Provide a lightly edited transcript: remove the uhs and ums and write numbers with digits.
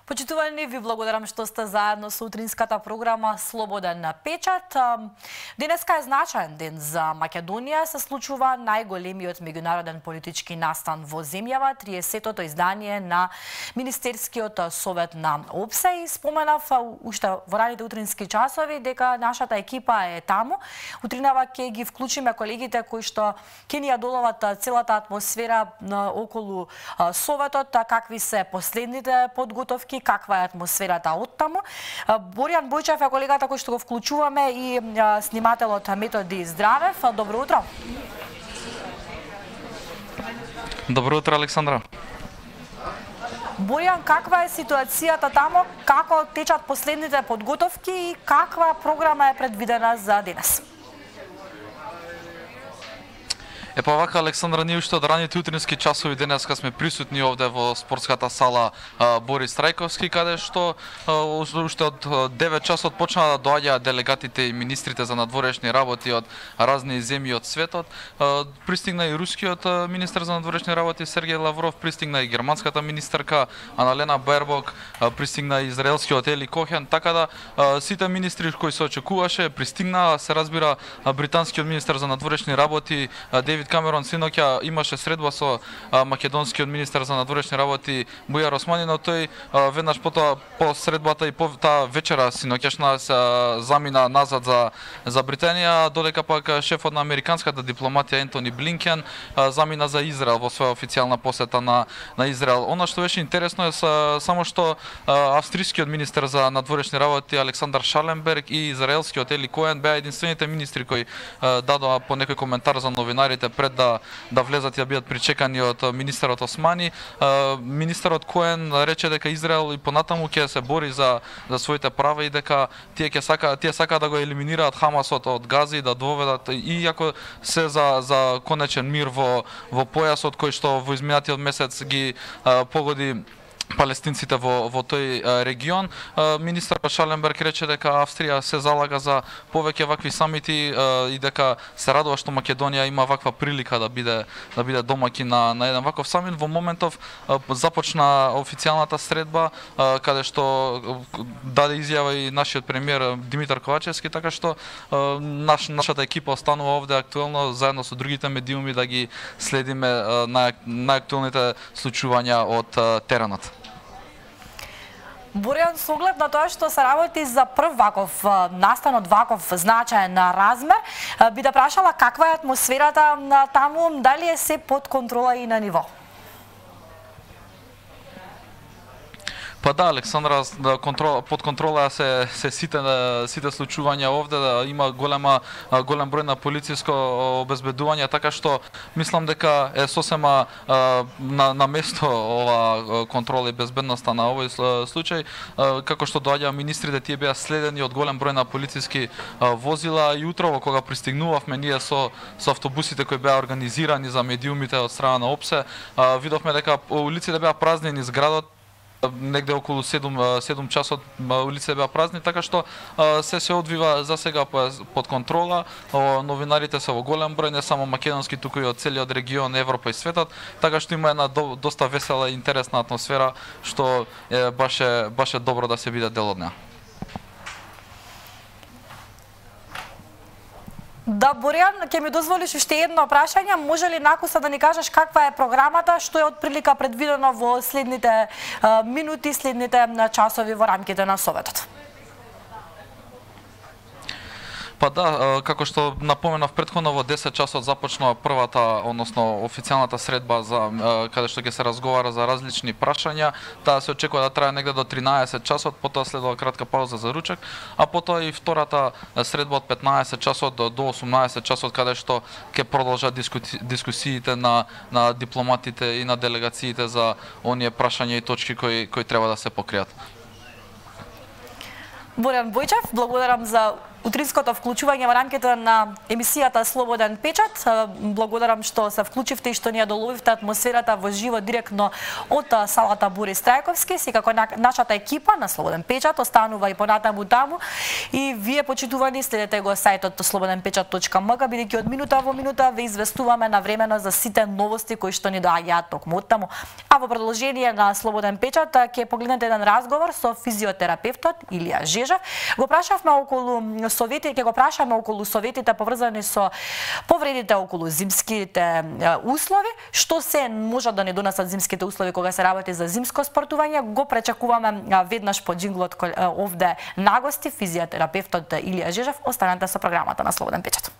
Почитувани, ви благодарам што сте заедно со утринската програма Слободен печат. Денеска е значаен ден за Македонија. Се случува најголемиот меѓународен политички настан во земјава, 30-тото издание на Министерскиот совет на ОПСЕ. И споменав уште во раните утрински часови дека нашата екипа е таму. Утринава ќе ги вклучиме колегите кои што ќе ни ја доловат целата атмосфера околу советот, какви се последните подготовки, каква е атмосферата оттаму. Боријан Бојчев е колегата кој што го вклучуваме и снимателот Методи Здравев. Добро утро. Добро утро, Александра. Боријан, каква е ситуацијата таму, како течат последните подготовки и каква програма е предвидена за денес? Па вака, Александра, ние уште од раните утрински часови денеска сме присутни овде во спортската сала Борис Трајковски, каде што уште од 9 часот почнаа да доаѓаат делегатите и министрите за надворешни работи од разни земји од светот. Пристигна и рускиот министер за надворешни работи Сергеј Лавров, пристигна и германската министерка Аналена Бербок, пристигна и израелскиот Ели Кохен, така да сите министри кои се очекуваше пристигнаа. Се разбира, британскиот министер за надворешни работи Девид Камерон синоќа имаше средба со македонскиот министер за надворешни работи Бујар Османи, но тој веднаш по средбата и по таа вечера синоќашна замина назад за Британија, додека пак шефот на американската дипломатија Ентони Блинкен замина за Израел во своја официјална посета на Израел. Она што беше интересно е само што австрискиот министер за надворешни работи Александар Шаленберг и израелскиот Ели Коен беа единствените министри кои дадоа по некој коментар за новинарите пред да влезат и да бидат причекани од министерот Османи. Министерот Коен рече дека Израел и понатаму ќе се бори за своите права и дека тие сакаат да го елиминираат Хамасот од Газа и да доведат, иако се за конечен мир во појасот кој што во изминатиот месец ги погоди палестинците во тој регион. Министер Шаленберг рече дека Австрија се залага за повеќе вакви самити и дека се радува што Македонија има ваква прилика да биде домаќин на еден ваков самит. Во моментов започна официјалната средба каде што даде изјава и нашиот премиер Димитар Ковачевски, така што нашата екипа останува овде актуелно заедно со другите медиуми да ги следиме најактуелните случувања од теренот. Боријан, со оглед на тоа што се работи за прв ваков настан од ваков значаен размер, би да прашала каква е атмосферата таму, дали е се под контрола и на ниво? Па да, Александра, под контрола се сите случувања овде, има голем број на полициско обезбедување, така што мислам дека е сосема на место ова контрола и безбедноста на овој случај. Како што доаѓаа министрите, тие беа следени од голем број на полициски возила и утрово кога пристигнувавме ние со автобусите кои беа организирани за медиумите од страна на ОПСЕ, видовме дека улиците беа празни низ градот. Негде околу 7 часот улиците беа празни, така што се одвива за сега под контрола. Новинарите се во голем број, не само македонски, туку и од целиот регион, Европа и светот, така што има една доста весела и интересна атмосфера, што баше добро да се биде дел од неа. Да, Боријан, ќе ми дозволиш уште едно прашање. Може ли накуса да ни кажеш каква е програмата, што е отприлика предвидено во следните минути, следните часови во рамките на Советот? Па да, како што напоменав претходно, во 10 часот започнува првата, односно официјалната средба каде што ќе се разговара за различни прашања. Таа се очекува да трае негде до 13 часот, потоа следува кратка пауза за ручек, а потоа и втората средба од 15 часот до 18 часот, каде што ќе продолжат дискусиите на дипломатите и на делегациите за оние прашања и точки кои треба да се покријат. Боријан Бојчев, благодарам за утринското вклучување во рамките на емисијата Слободен печат. Благодарам што се вклучивте и што ни ја доловивте атмосферата во живо директно од салата Борис Трајковски. Секако нашата екипа на Слободен печат останува и понатаму таму и вие почитувани следете го сајтот slobodенпечат.mk, бидејќи од минута во минута ве известуваме навремено за сите новости кои што ни доаѓаат токму од таму. А во продолжение на Слободен печат ќе погледнете еден разговор со физиотерапевтот Илија Жежев. Го прашавме околу совети, ќе го прашаме околу советите поврзани со повредите околу зимските услови, што се може да не донесат зимските услови кога се работи за зимско спортување. Го пречекуваме веднаш по джинглот овде на гости физиотерапевтот Илија Жежев. Останете со програмата на Слободен печат.